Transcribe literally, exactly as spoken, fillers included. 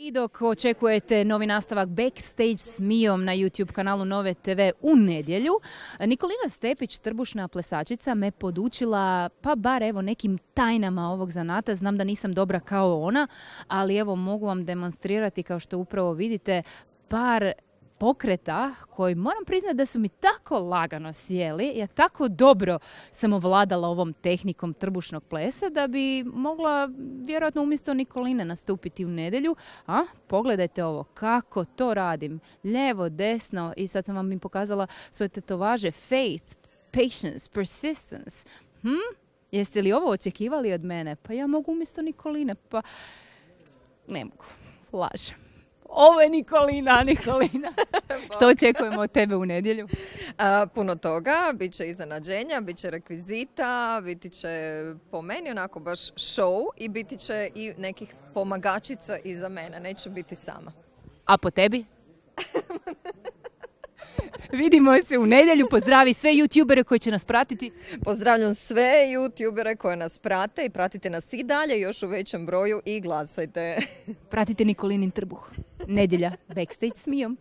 I dok očekujete novi nastavak Backstage s Mijom na YouTube kanalu Nove te ve u nedjelju, Nikolina Stepić, trbušna plesačica, me podučila pa bar evo nekim tajnama ovog zanata. Znam da nisam dobra kao ona, ali evo mogu vam demonstrirati, kao što upravo vidite, par pokreta koji moram priznati da su mi tako lagano sjeli. Ja tako dobro sam ovladala ovom tehnikom trbušnog plesa da bi mogla vjerojatno umjesto Nikoline nastupiti u nedjelju. A pogledajte ovo, kako to radim. Lijevo, desno i sad sam vam im pokazala svoje tetovaže. Faith, patience, persistence. Hm? Jeste li ovo očekivali od mene? Pa ja mogu umjesto Nikoline. Pa ne mogu. Lažem. Ovo je Nikolina, Nikolina. Što očekujemo od tebe u nedjelju? A, puno toga, bit će iznenađenja, bit će rekvizita, biti će po meni onako baš show i biti će i nekih pomagačica iza mene, neću biti sama. A po tebi? Vidimo se u nedjelju, pozdravi sve youtubere koji će nas pratiti. Pozdravljam sve youtubere koje nas prate i pratite nas i dalje još u većem broju i glasajte. Pratite Nikolinin trbuh. Nedjelja, Backstage s Mijom.